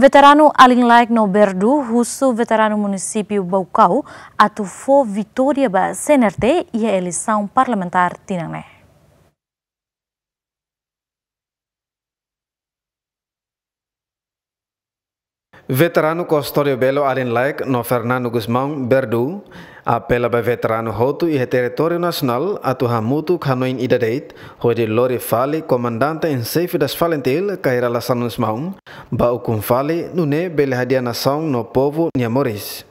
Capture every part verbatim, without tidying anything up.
Veteranu Alin Laek no Berdu husu veteranu munisípiu Baucau atu fó vitória ba C N R T iha eleisaun parlamentár tinan ne'e. Veteranu Custódio Belo Alin Laek no Fernando Gusmão Berdu apela ba veteranu hotu iha territóriu nasionál atu hamutuk hanoin ida de'it, hodi lori fali Comandante em Chefe das FALINTIL, Kay Rala Xanana Gusmão, ba ukun fali, nune'e bele hadi'a nasaun no povu nia moris.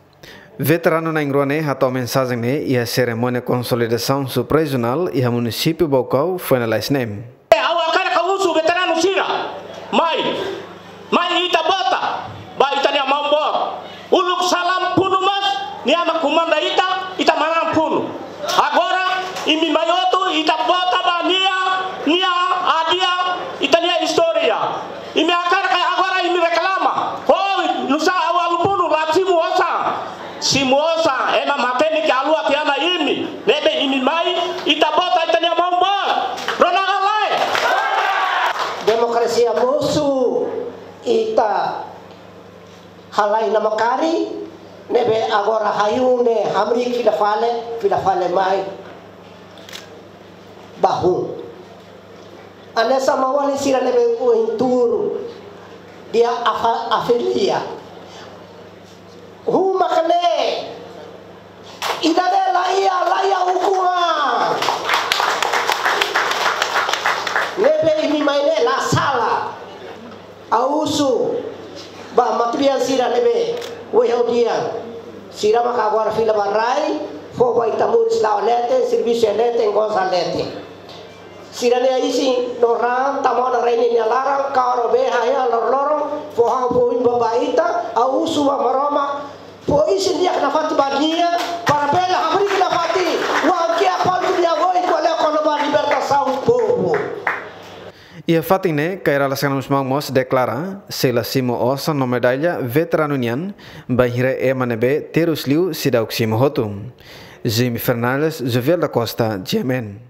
Veteranu na'in-rua ne'e hato'o mensajen ne'e iha serimónia konsolidasaun suprarejionál iha munisípiu Baucau foin lalais ne'e. Ha'u hakarak husu veteranu sira, mai, mai ita vota ba ita-nia maun boot. Uluk salam funu mós, nia mak komanda ita, ita manán funu. Agora, imi mai hotu, ita vota ba nia, nia hadi'a ita-nia istória. Imi hakarak katak agora imi reklama. Ho, nusá ha'u halo funu, la simu osan. Simu osan, ema matenek haluha tiha ona imi. Ne'ebé imi mai, ita vota ita-nia maun boot. Rona ka lae? Demokrasia mosu, ita halai namkari, ne'ebé agora hahú ne'e hamriik fila fali, fila fali mai ba hun. Hanesan maun-alin sira ne'ebé ohin tuur di'ak afa-, afilia. Hun mak ne'e, ida-ne'e la iha, la iha ukun an. Ne'ebé imi mai ne'e la sala. Ha'u husu ba matebian sira ne'ebé ohin ha'u dehan. Sira maka agora fila ba rai, fó ba ita moris la'o leten, servisu leten, goza leten. Sira-nia isin no raan tama ona rai ne'e nia laran, karik bele hahea loroloron, fó han fó oin ba ita, ha'u husu ba Maromak, fó isin di'ak nafatin ba nia, para bele hamriik nafatin, wainhira polítiku nia oin ko'alia kona-ba libertasaun povu. Iha fatin ne'e, Kay Rala Xanana Gusmão mós deklara, sei la simu osan no medalla veteranu nian, bainhira ema ne'ebé terus liu seidauk simu hotu. Jimmy Fernandes, Jovial da Costa, G M N.